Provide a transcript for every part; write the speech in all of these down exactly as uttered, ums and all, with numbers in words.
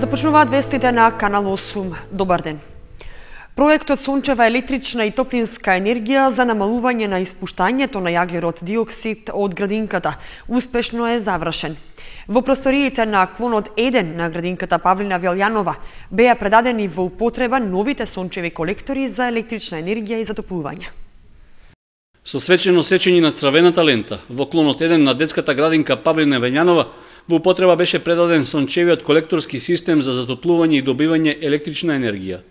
Започнуваат вестите на Канал осум. Добар ден. Проектот сончева електрична и топлинска енергија за намалување на испуштањето на јаглерод диоксид од градинката успешно е завршен. Во просториите на клонот еден на градинката Павлина Велјанова беа предадени во употреба новите сончеви колектори за електрична енергија и затоплување. Со свечено сечење на црвената лента во клонот еден на детската градинка Павлина Велјанова во употреба беше предаден сончевиот колекторски систем за затоплување и добивање електрична енергија.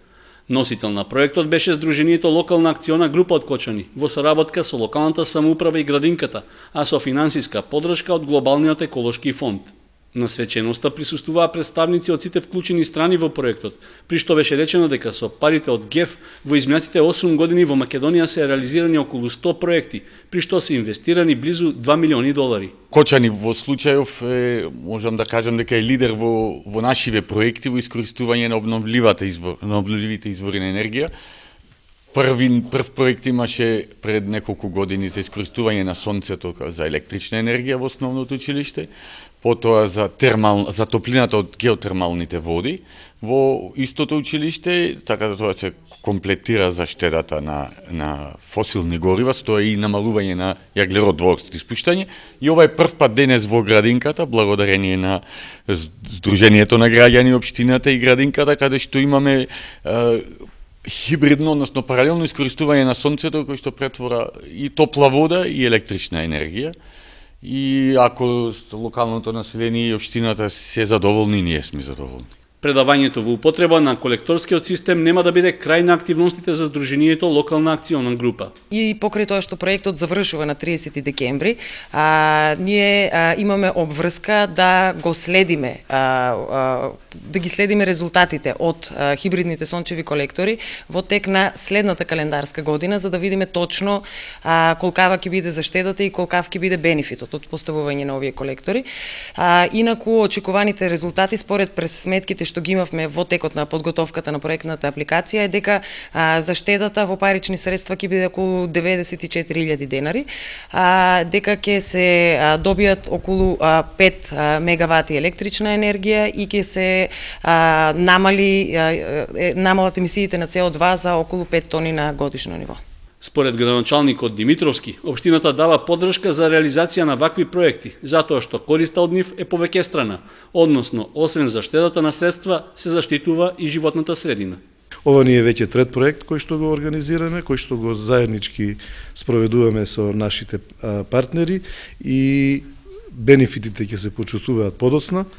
Носител на проектот беше Сдруженијето Локална акциона група од Кочани во соработка со локалната самоуправа и градинката, а со финансиска поддршка од Глобалниот еколошки фонд. На свеченоста присуствуваа представници од сите вклучени страни во проектот, при што беше речено дека со парите од ГЕФ во изминатите осум години во Македонија се реализирани околу сто проекти, при што се инвестирани близу два милиони долари. Кочани во случајов е, можам да кажам дека е лидер во во нашиве проекти во искористување на обновливата извор, на обновливите извори на енергија. Први прв проект имаше пред неколку години за искористување на сонцето за електрична енергија во основното училиште, потоа за термал за топлината од геотермалните води во истото училиште, така да тоа се комплетира за штедата на на фосилни горива, со тоа и намалување на јаглерод двуоксид испуштање. И ова е прв пат денес во градинката, благодарение на Сдруженијето на граѓани, општината и градинката, каде што имаме е, хибридно, односно паралелно искористување на сонцето, кој што претвора и топла вода и електрична енергија. И ако локалното население и општината се задоволни, ние сме задоволни. Предавањето во употреба на колекторскиот систем нема да биде крај на активностите за Сдруженијето Локална акциона група. И покрај тоа што проектот завршува на триесети декември, а, ние а, имаме обврска да го следиме, а, а, да ги следиме резултатите од а, хибридните сончеви колектори во тек на следната календарска година, за да видиме точно а, колкава ќе биде заштедата и колкав ќе биде бенефитот од поставување на овие колектори. А, инаку очекуваните резултати според пресметките што ги имавме во текот на подготовката на проектната апликација е дека а, заштедата во парични средства ќе биде околу деветдесет и четири илјади денари, а, дека ќе се а, добијат околу а, пет а, мегавати електрична енергија и ќе се а, намали а, е, намалат емисиите на С О два за околу пет тони на годишно ниво. Според градоначалникот Димитровски, општината дава поддршка за реализација на вакви проекти, затоа што користа од нив е повеќестрана, односно, освен заштедата на средства, се заштитува и животната средина. Ова ни е веќе трет проект кој што го организираме, кој што го заеднички спроведуваме со нашите партнери и бенефитите ќе се почувствуваат подоцна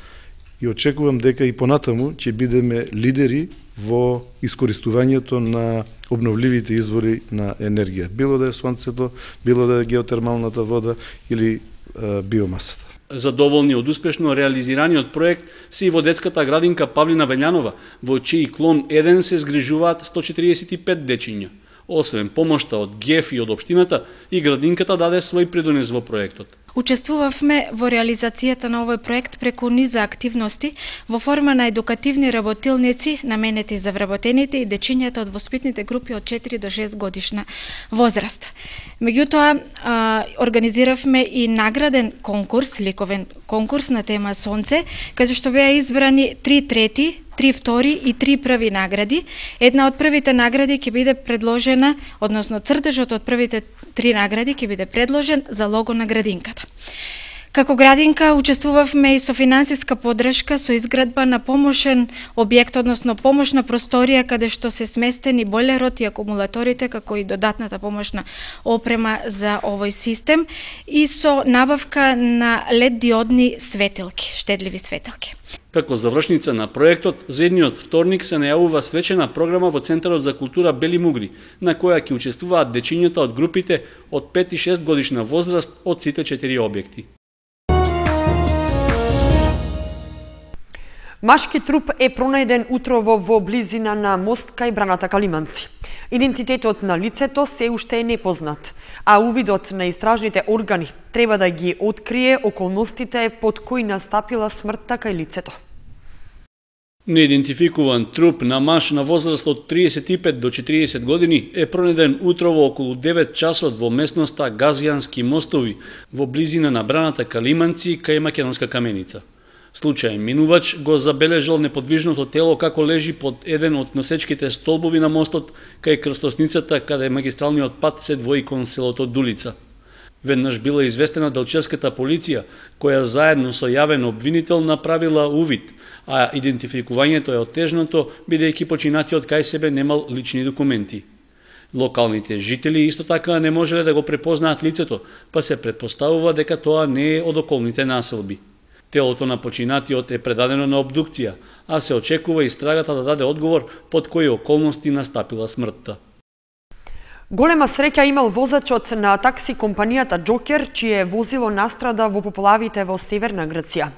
и очекувам дека и понатаму ќе бидеме лидери во искористувањето на обновливите извори на енергија, било да е сонцето, било да е геотермалната вода или е, биомасата. Задоволни од успешно реализираниот проект се и во детската градинка Павлина Велјанова, во чиј клон еден се згрижуваат сто четириесет и пет дечиња. Освен помошта од ГЕФ и од општината, и градинката даде свој придонес во проектот. Учествувавме во реализацијата на овој проект преку низа активности во форма на едукативни работилници наменети за вработените и дечињата од воспитните групи од четири до шест годишна возраст. Меѓутоа, организиравме и награден конкурс, ликовен конкурс на тема Сонце, каде што беа избрани три трети, три втори и три први награди. Една од првите награди ќе биде предложена, односно цртежот од првите три награди ќе биде предложен за лого на градинката. Како градинка учествувавме и со финансиска поддршка со изградба на помошен објект, односно помошна просторија каде што се сместени бойлерот и акумулаторите, како и додатната помошна опрема за овој систем и со набавка на лед диодни светилки, штедливи светилки. Како завршница на проектот, за едниот вторник се најавува свечена програма во Центарот за култура Бели Мугри, на која ќе учествуваат дечињата од групите од пет и шест годишна возраст од сите четири објекти. Машки труп е пронајден утрово во близина на мост кај браната Калиманци. Идентитетот на лицето се уште е непознат, а увидот на истражните органи треба да ги открие околностите под кои настапила смртта кај лицето. Неидентификуван труп на маж на возраст од триесет и пет до четириесет години е пронајден утрово околу девет часот во местноста Газијански мостови во близина на браната Калиманци кај Македонска каменица. Случај минувач го забележал неподвижното тело како лежи под еден од носечките столбови на мостот кај крстосницата каде магистралниот пат се двои кон селото Дулица. Веднаш била известена делчевската полиција, која заедно со јавен обвинител направила увид, а идентификувањето е оттежнато, бидејќи починатиот кај себе немал лични документи. Локалните жители исто така не можеле да го препознаат лицето, па се претпоставува дека тоа не е од околните населби. Телото на починатиот е предадено на обдукција, а се очекува истрагата да даде одговор под кои околности настапила смртта. Голема среќа имал возачот на такси компанијата Джокер, чие возило настрада во поплавите во Северна Грција.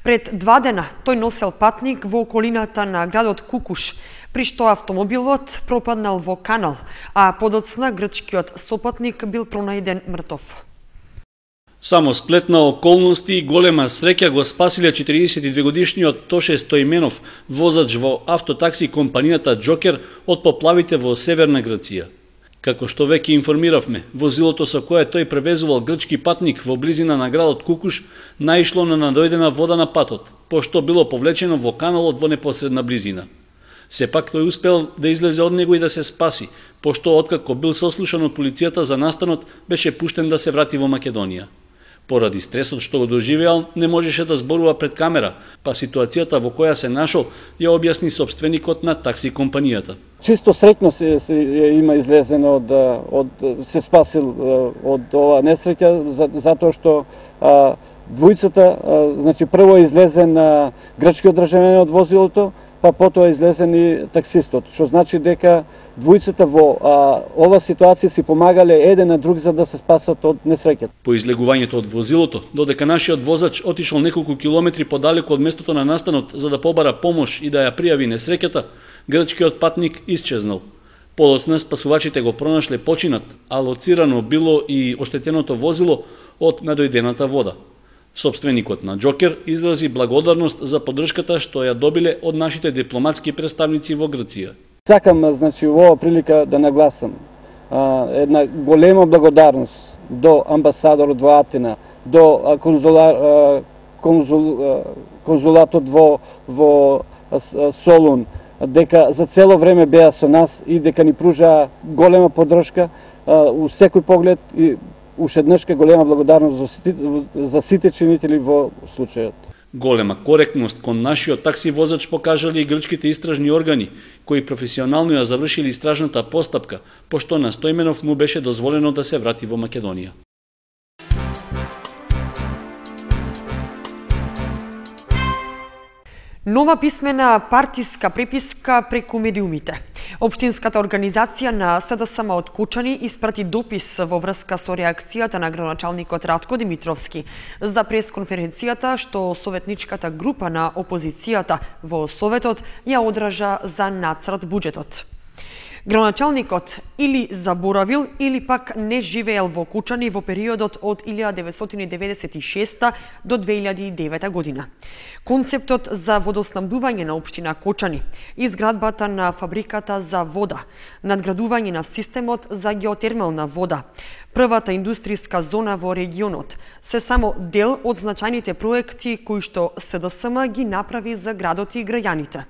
Пред два дена тој носел патник во околината на градот Кукуш, при што автомобилот пропаднал во канал, а подоцна грчкиот сопатник бил пронајден мртов. Само сплет на околности и голема среќа го спасиле четириесет и две годишниот Тоше Стоименов, возач во автотакси компанијата Джокер од поплавите во Северна Грција. Како што веќе информиравме, возилото со кое тој превезувал грчки патник во близина на градот Кукуш наишло на надојдена вода на патот, пошто било повлечено во каналот во непосредна близина. Сепак тој успел да излезе од него и да се спаси, пошто откако бил сослушан од полицијата за настанот, беше пуштен да се врати во Македонија. Поради стресот што го доживеал, не можеше да зборува пред камера, па ситуацијата во која се нашол ја објасни собственикот на такси компанијата. Чисто среќно се, се има излезено од, од се спасил од ова несреќа, за, затоа што а, двојцата, а, значи прво е излезен а, грчкиот државјанин од возилото, па потоа излезен и таксистот, што значи дека двојцата во а, ова ситуација си помагале еден на друг за да се спасат од несреќата. По излегувањето од возилото, додека нашиот возач отишол неколку километри подалеку од местото на настанот за да побара помош и да ја пријави несреќата, грчкиот патник исчезнал. Подоцна спасувачите го пронашле починат, а лоцирано било и оштетеното возило од надојдената вода. Собственикот на Джокер изрази благодарност за поддршката што ја добиле од нашите дипломатски представници во Грција. Сакам, значи, во оваа прилика да нагласам а, една голема благодарност до амбасадорот во Атина, до конзулар, а, конзул, а, конзулатот во, во а, Солун, дека за цело време беа со нас и дека ни пружаа голема поддршка а, у секој поглед и уште еднашка голема благодарност за сите, за сите чинители во случајот. Голема коректност кон нашиот такси возач покажале и грчките истражни органи, кои професионално ја завршили истражната постапка, пошто на Стоименов му беше дозволено да се врати во Македонија. Нова писмена партиска преписка преку медиумите. Општинската организација на СДСМ од Кучани испрати допис во врска со реакцијата на градоначалникот Ратко Димитровски за пресконференцијата што советничката група на опозицијата во Советот ја одража за нацрт буџетот. Градоначалникот или заборавил или пак не живеел во Кучани во периодот од илјада деветстотини деветдесет и шеста до две илјади и девета година. Концептот за водоснабдување на општина Кучани, изградбата на фабриката за вода, надградување на системот за геотермална вода, првата индустријска зона во регионот, се само дел од значајните проекти кои што СДСМ ги направи за градот и граѓаните.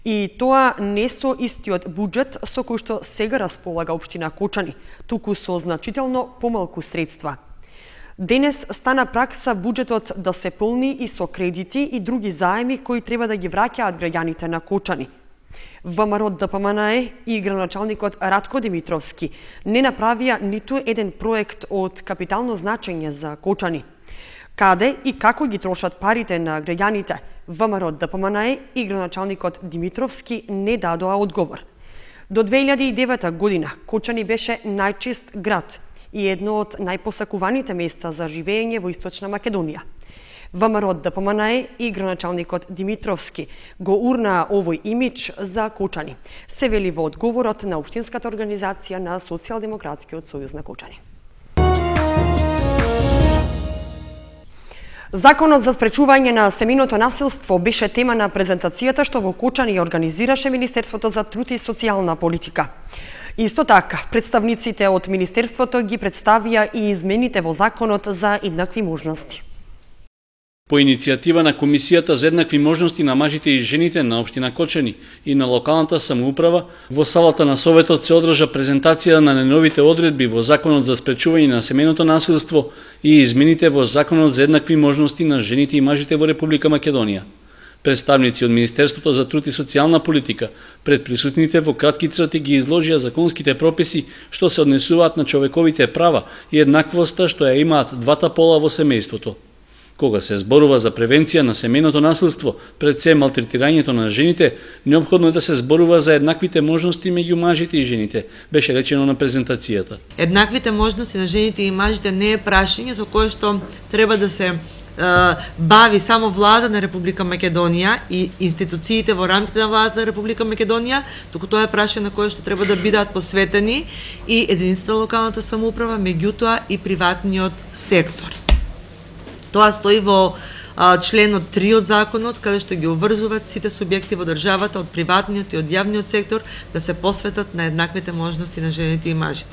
И тоа не со истиот буџет со кој што сега располага општина Кучани, туку со значително помалку средства. Денес стана пракса буџетот да се полни и со кредити и други заеми кои треба да ги враќаат граѓаните на Кучани. ВМРО ДПМНЕ и градоначалникот Ратко Димитровски не направија ниту еден проект од капитално значење за Кучани. Каде и како ги трошат парите на граѓаните, ВМРО ДПМНЕ и градоначалникот Димитровски не дадоа одговор. До две илјади и девета година Кучани беше најчист град и едно од најпосакуваните места за живење во Источна Македонија. ВМРО ДПМНЕ и градоначалникот Димитровски го урнаа овој имидж за Кучани, се вели во одговорот на Општинската организација на Социјалдемократскиот сојуз на Кучани. Законот за спречување на семејното насилство беше тема на презентацијата што во Кучани ја организираше Министерството за труд и социјална политика. Исто така, представниците од Министерството ги представија и измените во Законот за еднакви можности. По иницијатива на Комисијата за еднакви можности на мажите и жените на општина Кочани и на локалната самоуправа, во салата на Советот се одржа презентација на најновите одредби во Законот за спречување на семејното насилство и измените во Законот за еднакви можности на жените и мажите во Република Македонија. Представници од Министерството за труд и социјална политика пред присутните во кратки црти ги изложија законските прописи што се однесуваат на човековите права и еднаквоста што ја имаат двата пола во семејството. Кога се зборува за превенција на семејното насилство, пред се малтретирањето на жените, неопходно е да се зборува за еднаквите можности меѓу мажите и жените, беше речено на презентацијата. Еднаквите можности на жените и мажите не е прашање за кое што треба да се бави само влада на Република Македонија и институциите во рамките на владата на Република Македонија, туку тоа е прашање на кое што треба да бидат посветени и единиците на локалната самоуправа, меѓутоа и приватниот сектор. Тоа стои во а, членот три од законот, каде што ги обврзуваат сите субјекти во државата од приватниот и од јавниот сектор да се посветат на еднаквите можности на жените и мажите.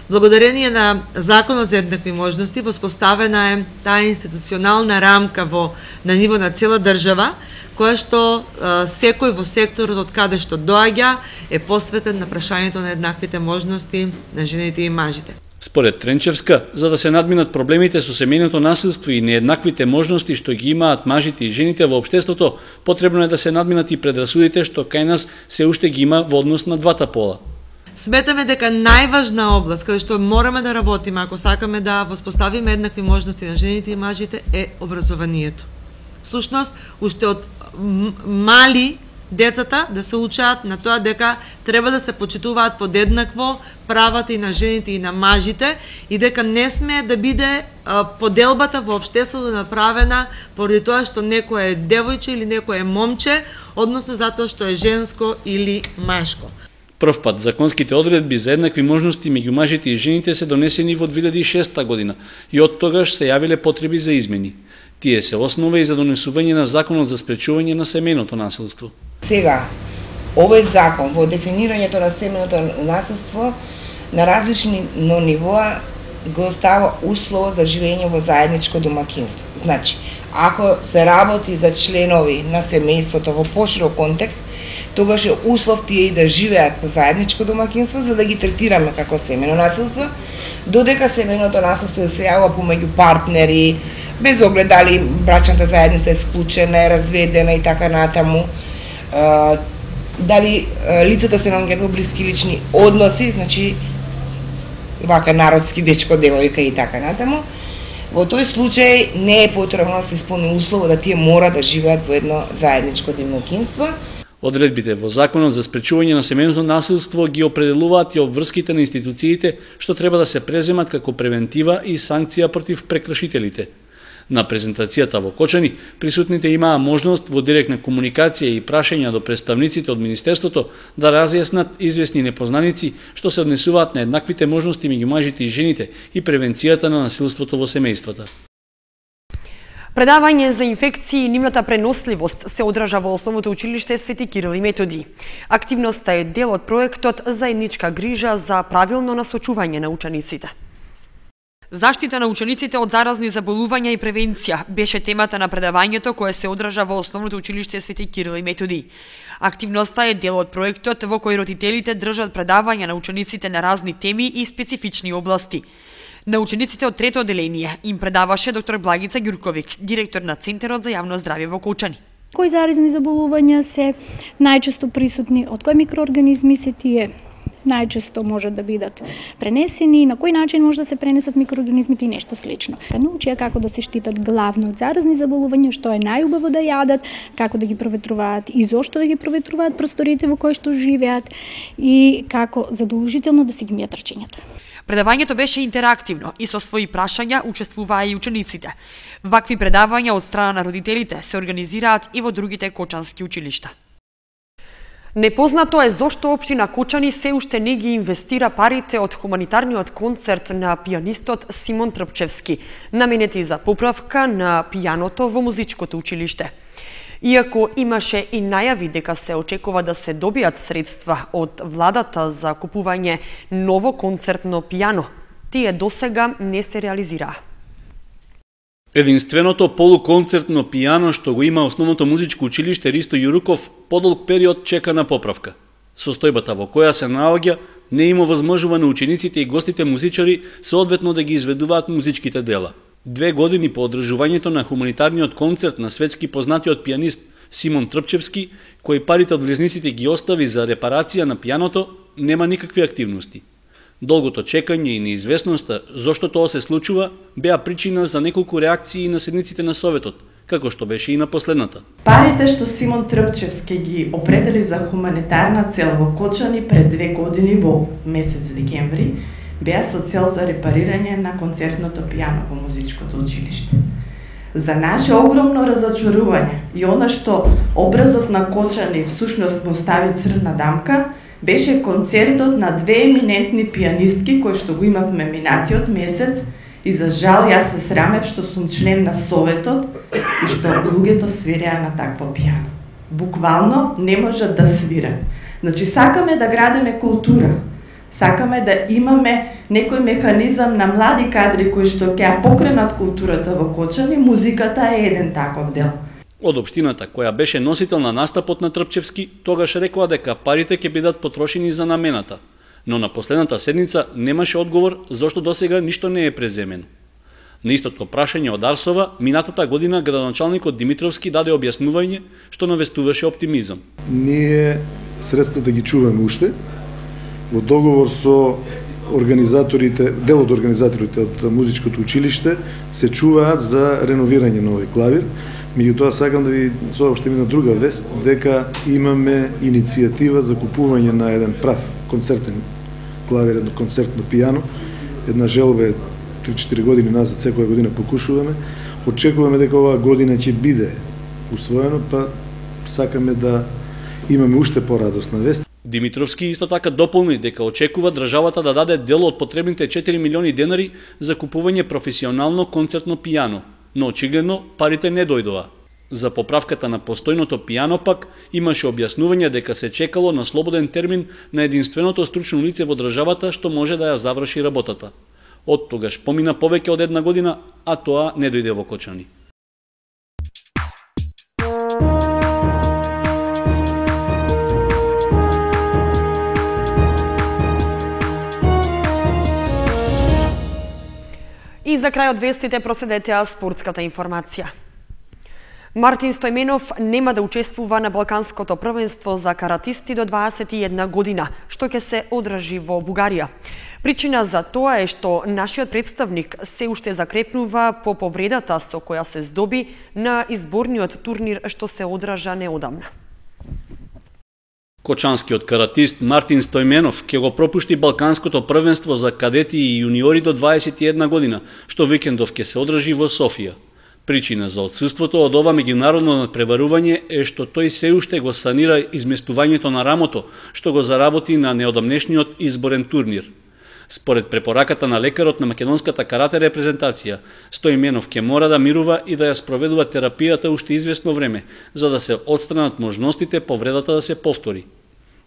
Благодарение на Законот за еднакви можности воспоставена е таа институционална рамка во на ниво на цела држава, која што а, секој во секторот од каде што доаѓа е посветен на прашањето на еднаквите можности на жените и мажите. Според Тренчевска, за да се надминат проблемите со семејното насилство и нееднаквите можности што ги имаат мажите и жените во општеството, потребно е да се надминат и предрасудите што кај нас се уште ги има во однос на двата пола. Сметаме дека најважна област каде што мораме да работиме ако сакаме да воспоставиме еднакви можности на жените и мажите е образованието. Всушност, уште од мали децата да се учат на тоа дека треба да се почитуваат подеднакво правата и на жените и на мажите и дека не смее да биде а, поделбата во општеството направена поради тоа што некој е девојче или некој е момче, односно затоа што е женско или машко. Прв пат законските одредби за еднакви можности меѓу мажите и жените се донесени во две илјади и шеста година и од тогаш се јавиле потреби за измени. Тие се основа и за донесување на Законот за спречување на семејното насилство. Сега, овој закон во дефинирањето на семејното насилство на различни нивоа го става услов за живење во заедничко домакинство. Значи, ако се работи за членови на семејството во поширок контекст, тогаш е услов тие и да живеат во заедничко домакинство за да ги третираме како семејно насилство, додека семејното насилство се јавува помеѓу партнери, без оглед дали брачната заедница е склучена, е разведена и така натаму, дали лицата се наоѓаат во блиски лични односи, значи вака народски дечко, девојка и така натаму. Во тој случај не е потребно да се исполни услово да тие мора да живеат во едно заедничко домакинство. Одредбите во Законот за спречување на семејното насилство ги определуваат и обврските на институциите што треба да се преземат како превентива и санкција против прекршителите. На презентацијата во Кочани, присутните имаа можност во директна комуникација и прашања до представниците од Министерството да разјаснат известни непознаници што се однесуваат на еднаквите можности меѓу мажите и жените и превенцијата на насилството во семејствата. Предавање за инфекции и нивната преносливост се одржа во Основното училиште Свети Кирил и Методи. Активноста е дел од проектот Заедничка грижа за правилно насочување на учениците. Заштита на учениците од заразни заболувања и превенција беше темата на предавањето кое се одржа во Основното училиште Свети Кирил и Методи. Активноста е дел од проектот во кој родителите држат предавања на учениците на разни теми и специфични области. На учениците од трето оделение им предаваше доктор Благица Ѓурковик, директор на Центарот за јавно здравје во Кочани. Кои заразни заболувања се најчесто присутни, од кои микроорганизми се тие најчесто може да бидат пренесени, на кој начин може да се пренесат микроорганизмите и нешто слично. Да научија како да се штитат главно од заразни заболувања, што е најубаво да јадат, како да ги проветруваат и зошто да ги проветруваат просториите во кои што живеат и како задолжително да си ги мијат рачињата. Предавањето беше интерактивно и со своји прашања учествуваа и учениците. Вакви предавања од страна на родителите се организираат и во другите кочански училишта. Непознато е зошто општина Кочани се уште не ги инвестира парите од хуманитарниот концерт на пијанистот Симон Трпчевски, наменети за поправка на пијаното во музичкото училиште. Иако имаше и најави дека се очекува да се добијат средства од владата за купување ново концертно пијано, тие досега не се реализираа. Единственото полуконцертно пијано што го има Основното музичко училиште Ристо Јуруков подолг период чека на поправка. Состојбата во која се наоѓа не има возможува на учениците и гостите музичари соодветно да ги изведуваат музичките дела. Две години по одржувањето на хуманитарниот концерт на светски познатиот пијанист Симон Трпчевски, кој парите од влезниците ги остави за репарација на пијаното, нема никакви активности. Долгото чекање и неизвестноста зошто тоа се случува беа причина за неколку реакции на седниците на Советот, како што беше и на последната. Парите што Симон Трпчевски ги определи за хуманитарна цел во Кочани пред две години во месец декември беа со цел за репарирање на концертното пијано во музичкото училиште. За наше огромно разочарување и она што образот на Кочани всушност му стави црна дамка, беше концертот на две еминентни пијанистки кои што го имавме минатиот месец и за жал јас се срамев што сум член на Советот и што луѓето свиреа на такво пијано. Буквално не можат да свират. Значи сакаме да градиме култура, сакаме да имаме некој механизам на млади кадри кои што ќе ја покренат културата во Кочани, музиката е еден таков дел. Од општината, која беше носител на настапот на Трпчевски, тогаш рекоа дека парите ќе бидат потрошени за намената, но на последната седница немаше одговор зошто досега ништо не е преземено. На истото прашање од Арсова, минатата година градоначалникот Димитровски даде објаснување што навестуваше оптимизам. Ние средствата ги чуваме уште, во договор со организаторите, дел од организаторите од музичкото училиште се чуваат за реновирање на овој клавир. Меѓутоа сакам да ви соопштим една друга вест, дека имаме иницијатива за купување на еден прав концертен клавир, едно концертно пијано. Една желба е три-четири години назад, секоја година покушуваме. Очекуваме дека оваа година ќе биде усвоено, па сакаме да имаме уште порадосна вест. Димитровски исто така дополни дека очекува државата да даде дел од потребните четири милиони денари за купување професионално концертно пијано, но очигледно парите не дојдоа. За поправката на постојното пијано пак имаше објаснување дека се чекало на слободен термин на единственото стручно лице во државата што може да ја заврши работата. Од тогаш помина повеќе од една година, а тоа не дојде во Кочани. И за крај од вестите проследете спортската информација. Мартин Стојменов нема да учествува на Балканското првенство за каратисти до дваесет и една година, што ќе се одржи во Бугарија. Причина за тоа е што нашиот представник се уште закрепнува по повредата со која се здоби на изборниот турнир што се одржа неодамна. Кочанскиот каратист Мартин Стојменов ќе го пропушти Балканското првенство за кадети и јуниори до дваесет и една година, што викендов ќе се одржи во Софија. Причина за отсуството од ова меѓународно надпреварување е што тој се уште го санира изместувањето на рамото, што го заработи на неодамнешниот изборен турнир. Според препораката на лекарот на македонската карате репрезентација, Стојменов ќе мора да мирува и да ја спроведува терапијата уште известно време, за да се отстранат можностите повредата да се повтори.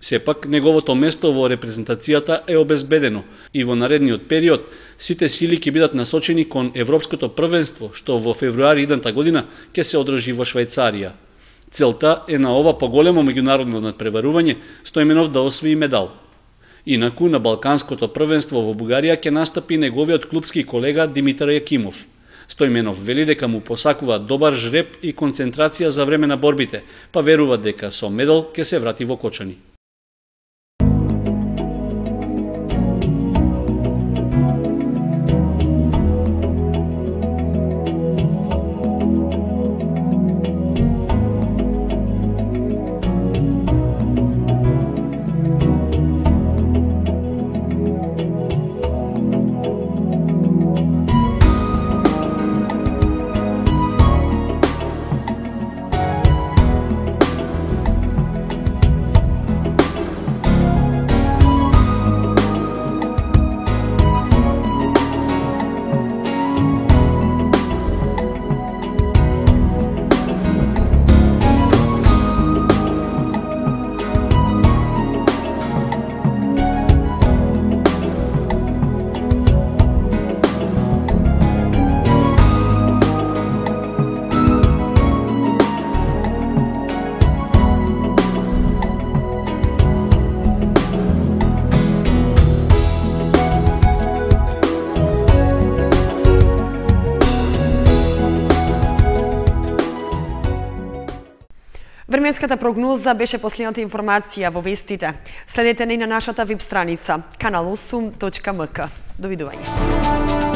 Сепак, неговото место во репрезентацијата е обезбедено и во наредниот период сите сили ќе бидат насочени кон Европското првенство, што во февруари идната година ќе се одржи во Швајцарија. Целта е на ова поголемо меѓународно надпреварување Стојменов да освои медал. Инаку на Балканското првенство во Бугарија ќе настапи неговиот клубски колега Димитар Јакимов. Стојменов вели дека му посакува добар жреб и концентрација за време на борбите, па верува дека со медал ќе се врати во Кочани. Временската прогноза беше последната информација во вестите. Следете не на нашата веб страница канал осум точка ем ка. Довидување.